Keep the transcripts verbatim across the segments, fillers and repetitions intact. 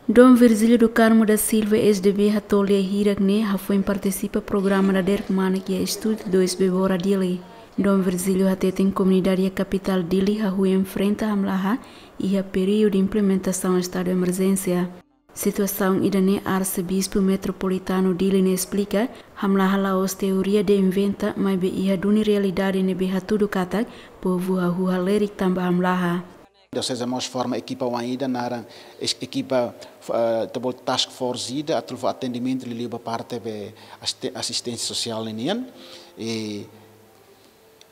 Dom Virgílio do Carmo da Silva, S D B, hato'o lia hirak ne'e hafoin partisipa programa dadeer kmanek iha Estúdiu dois Bebora Dili. Dom Virgílio hateten komunidade iha kapitál Dili hahú enfrenta hamlaha iha períodu implementasaun estadu emerjénsia. Situasaun ida-ne'e Arsebispu Metropolitanu Dili ne'e esplika, hamlaha la'ós teoria de'it inventa, maibé iha duni realidade ne'ebé hatudu katak povu hahú halerik tanba hamlaha. Dioseze mós forma ekipa oan ida naran es-, ekipa, eh, ita bolu task force ida atu fó atendimentu liuliu ba parte be asiste-, asisténsia sosiál ninian. I,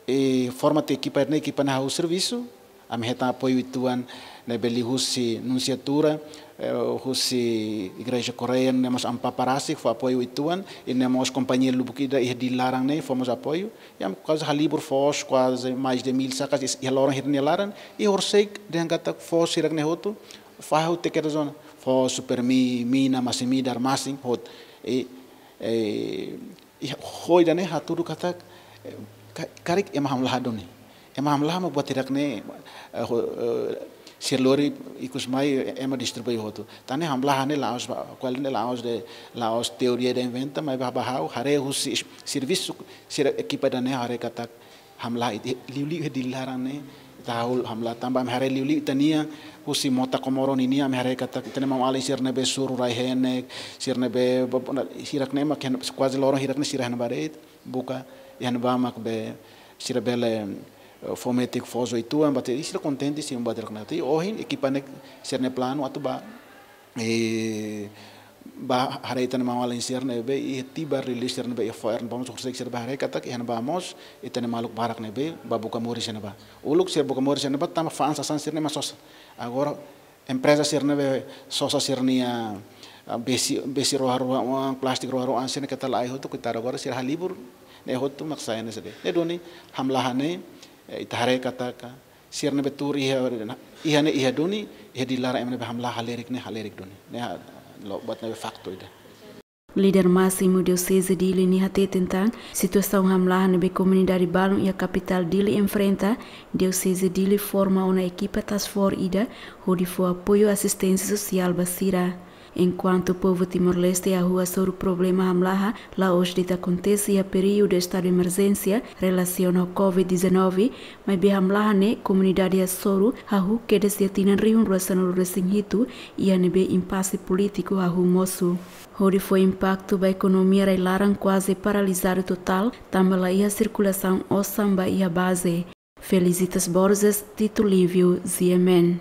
i forma tiha ekipa ne'e, ekipa ne'e hahú servisu, ami hetan apoiu uitoan ne'ebé liuhusi nunsiatura, eh, husi Igreja Koreia, ne'e mós ami papá rasik fó apoiu uitoan, i ne'e mós kompañia lubuk ida iha Dili laran ne'e fó mós apoiu. I ami kuaze halibur foos, kuaze mais de mil sakas, is-, iha loron hirak nia laran, i horisehik dehan katak foos hirak ne'e hotu fahe hotu tiha kedas ona. Foos, supermi, mina, masin-midar, masin hotu. I, eh, i ho ida-ne'e hatudu katak, eh, ka-, karik ema hamlaha duni. Ema hamlaha mak buat hirak ne'e, eh, ho-, eh, sira lori ikus mai ema distribui hotu. Tan ne'e hamlaha ne'e la'ós ba, kual ne'e la'ós de'it, la'ós teoria de'it inventa, maibé ba ha'u haree husi servisu sira ekipa ida-ne'e haree katak hamlaha it-, liuliu iha Dili laran ne'e, ita hahú hamlaha tanba ami haree liuliu ita-nia, husi mota Komoro ninian ami haree katak ita-nia maun-alin sira ne'ebé suru rai-henek, sira ne'ebé ba-, ba-, hirak ne'e mak iha ne'ebá, kuaze loron hirak ne'e sira iha ne'ebá de'it, buka iha ne'ebá mak be sira bele, eh, fó metin foos uitoan, buat ida sira kontente, sira buat ida kontente. Ohin ekipa ne'e sira-nia planu atu ba, eh, ba haree ita-nia maun-alin sira ne'ebé iha Tibar, liuliu sira ne'ebé iha fo'er ne'ebá mós, horisehik sira ba haree katak iha ne'ebá mós ita-nia maluk barak ne'ebé ba buka moris iha ne'ebá. Uluk sira buka moris iha ne'ebá tanba fa'an sasán sira-ne'e mak sosa. Agora empreza sira ne'ebé sosa sira-nia, ah, besi, besi roha-roha oan, plástiku roha-roha oan sira-ne'e keta la'o hotu, kuitadu agora sira halibur ne'e hotu mak sai ne'e sede. Ne'e duni hamlaha ne'e, eh, ita haree katak sira ne'ebé tuur iha, iha ne'e iha duni, iha Dili laran ema ne'ebé hamlaha halerik ne'e halerik duni. Ne'e ha-, lo-, buat ne'ebé faktu ida. Líder másimu Dioseze Dili ne'e hateten tan, situasaun hamlaha ne'ebé komunidade balun iha kapitál Dili enfrenta, Dioseze Dili forma ona ekipa task force ida hodi fó apoiu asisténsia sosiál ba sira. Enkuantu povu Timor-Leste hahú hasoru problema hamlaha, la'ós de'it akontese iha períodu estadu emerjénsia relasiona ho covid dezanove, maibé hamlaha ne'e komunidade hasoru hahú kedas iha tinan rihun rua sanulu resin hitu, iha ne'ebé impase polítiku hahú mosu. Hodi fó impaktu ba ekonomia rai-laran kuaze paralizadu totál, tanba la iha sirkulasaun osan ba iha baze. Felicitas Borges, Tito Lívio, G M N.